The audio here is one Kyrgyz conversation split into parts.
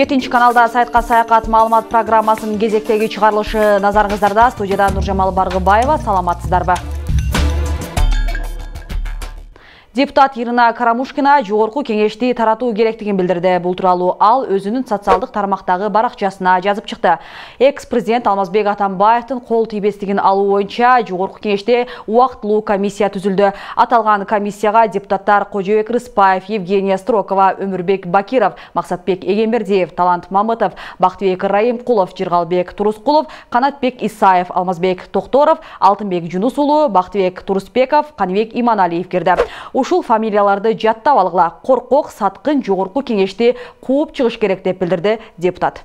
7 каналда сайтка саякат маалымат программасынын кезектеги чыгарылышы назарыңыздарда. Студияда Нуржамал Баргыбаева. Саламатсыздарбы? Депутат Ирина Карамушкина жогорку кеңешти таратуу керектигин билдирди. Бул тууралуу ал өзүнүн социалдык тармактагы баракчасына жазып чыкты. Экс-президент Алмазбек Атамбаевдин кол тийбестигин алуу боюнча жогорку кеңеште убактылуу комиссия түзүлдү. Аталган комиссияга депутаттар Кожобек Рыспаев, Евгения Строкова, Өмүрбек Бакиров, Максатбек Эгембердиев, Талант Мамытов, Бактыбек Раимкулов, Жыргалбек Турускулов, Канатбек Исаев, Алмазбек Токторов, Алтынбек Жунус уулу, Бактыбек Турусбеков, Каныбек Иманалиев кирди. Ушул фамилияларды жаттап алгыла. Коркок, саткын жогорку кеңешти кууп чыгыш керек деп билдирди депутат.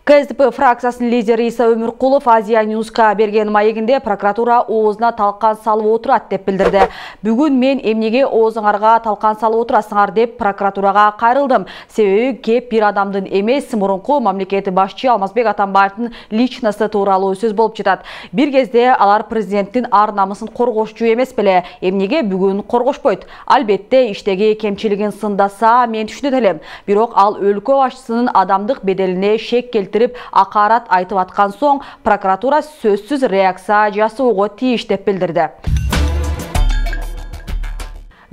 КСДП фракциясынын лидери Иса Өмүркулов Азия Ньюска берген маегинде прокуратура оозуна талкан салып отурат деп билдирди. Бүгүн мен эмнеге оозуңарга талкан салып отурасыңар деп прокуратурага кайрылдым. Себеби кеп бир адамдын эмес, мурунку мамлекет башчы Алмазбек Атамбаевдин личности тууралуу сөз болуп жатат. Бир кезде алар президенттин ар намысын коргошчу эмес беле? Эмнеге бүгүн коргошпойт? Албетте иштеги кемчилигин сындаса мен түшүнөт элем. Бирок ал өлкө башчысынын адамдык беделине шек келтирип акарат айтып аткан соң прокуратура сөзсүз реакция жасоого тийиш деп билдирди.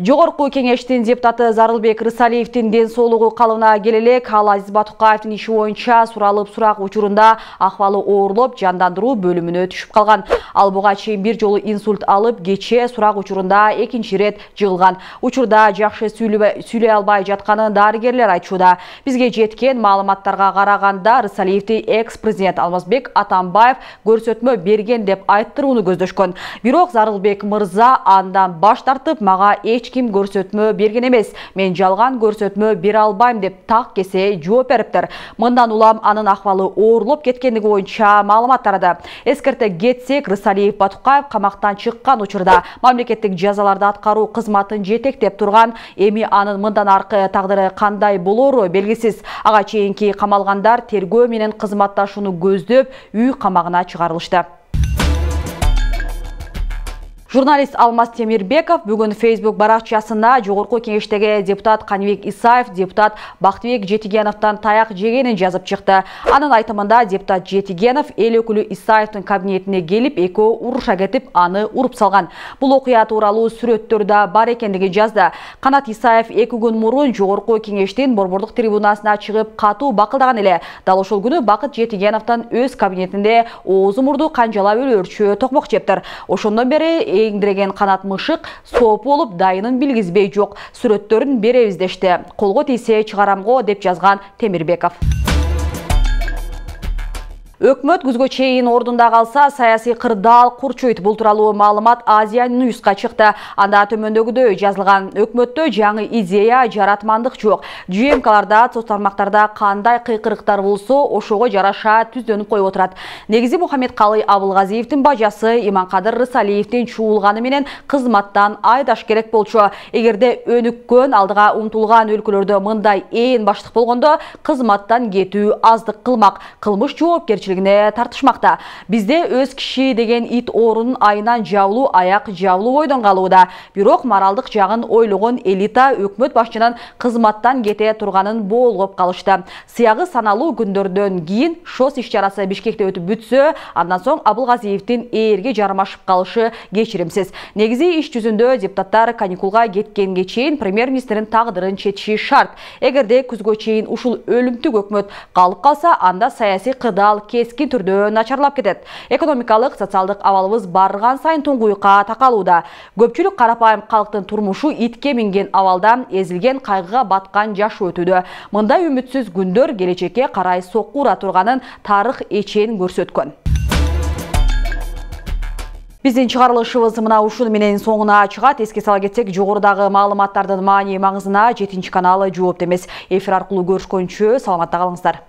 Жогорку кеңештин депутаты Зарылбек Рысалиевдин ден соолугу калыбына келелек. Ал Азиз Батукаевдин иши боюнча суралып сурак учурунда акыбалы оорлоп, жандандыруу бөлүмүнө түшүп калган. Ал буга чейин бир жолу инсульт алып, кече сурак учурунда экинчи ирет жыгылган. Учурда жакшы сүйлөй албай жатканын дарыгерлер айтууда. Бизге жеткен маалыматтарга караганда Рысалиевди экс-президент Алмазбек Атамбаев көрсөтмө берген деп айттырууну көздөшкөн. Бирок Зарылбек мырза андан баш тартып, мага ким көрсөтмө берген эмес, мен жалган көрсөтмө бере албайм деп так кесе жооп бериптир. Мындан улам анын акыбалы оорлоп кеткендиги боюнча маалымат тарады. Эскерте кетсек, Рысалиев Батукаев камактан чыккан учурда мамлекеттик жазаларды аткаруу кызматын жетектеп турган. Эми анын мындан аркы тагдыры кандай болору белгисиз. Ага чейинки камалгандар тергөө менен кызматташууну көздөп үй камагына чыгарылышты. Журналист Алмаз Темирбеков бүгүн Facebook баракчасында жогорку кеңештеги депутат Каныбек Исаев депутат Бактыбек Жетигеновдон таяк жегенин жазып чыкты. Анын айтымында депутат Жетигенов эл өкүлү Исаевдин кабинетине келип, экөө уруша кетип, аны уруп салган. Бул окуя тууралуу сүрөттөр да бар экендигин жазды. Канат Исаев 2 күн мурун жогорку кеңештин борбордук трибунасына чыгып катуу бакылдаган эле. Дал ошол күнү Бакыт Жетигеновдон өз кабинетинде оозу мурду канжалап өлөрчү токмок жептир. Ошондон бери эңдиреген канат мышык соп болуп дайынын билгизбей жок. Сүрөттөрүн беребиз дешти. Колго тийсе чыгарамго деп жазган Темирбеков. Өкмөт күзгө чейин ордунда калса, саясий кырдаал курчуйт. Бул тууралуу маалымат Азия Ньюска чыкты. Анда төмөндөгүдөй жазылган: өкмөттө жаңы идея, жаратмандык жок. ЖМКларда, соц тармактарда кандай кыйкырыктар болсо, ошого жараша түздөнүп коюп отурат. Негизи Мухаммедкалый Абылгазиевдин бажасы Иманкадыр Рысалиевдин чуулганы менен кызматтан айдаш керек болчу. Эгерде өнүккөн, алдыга умтулган өлкөлөрдө мындай ээн баштык болгондо, кызматтан кетүү аздык кылмак. Кылмыш жоопкерчилиги тартышмакта. Бизде өз киши деген ит орунун айынан жабылуу, аяк жабылуу бойдон калууда. Бирок моралдык жагын ойлогон элита өкмөт башчынын кызматтан кете турганын боолгоп калышты. Сыягы саналуу күндөрдөн кийин ШОС иш-чарасы Бишкекте өтүп бүтсө, андан соң Абылгазиевдин ээрге жармашып калышы кечиримсиз. Негизи иш жүзүндө депутаттар каникулга кеткенге чейин премьер-министрдин тагдырын чечиши шарт. Эгерде күзгө чейин ушул өлүмтүк өкмөт калып калса, анда саясий кырдаал кескин түрдө начарлап кетет. Экономикалык, социалдык абалыбыз барган сайын туңгуйка такалууда. Көпчүлүк карапайым калктын турмушу итке минген абалда эзилген, кайгыга баткан жашоо өтүүдө. Мындай үмүтсүз күндөр келечекке карай соккура турганын тарых эчен көрсөткөн. Биздин чыгарылышыбыз мына ушуну менен соңуна чыгат. Эске сала кетсек, жогорудагы маалыматтардын маани маңызына 7 каналы жооп эмес. Эфир аркылуу көрүшкөнчө саламатта калыңыздар.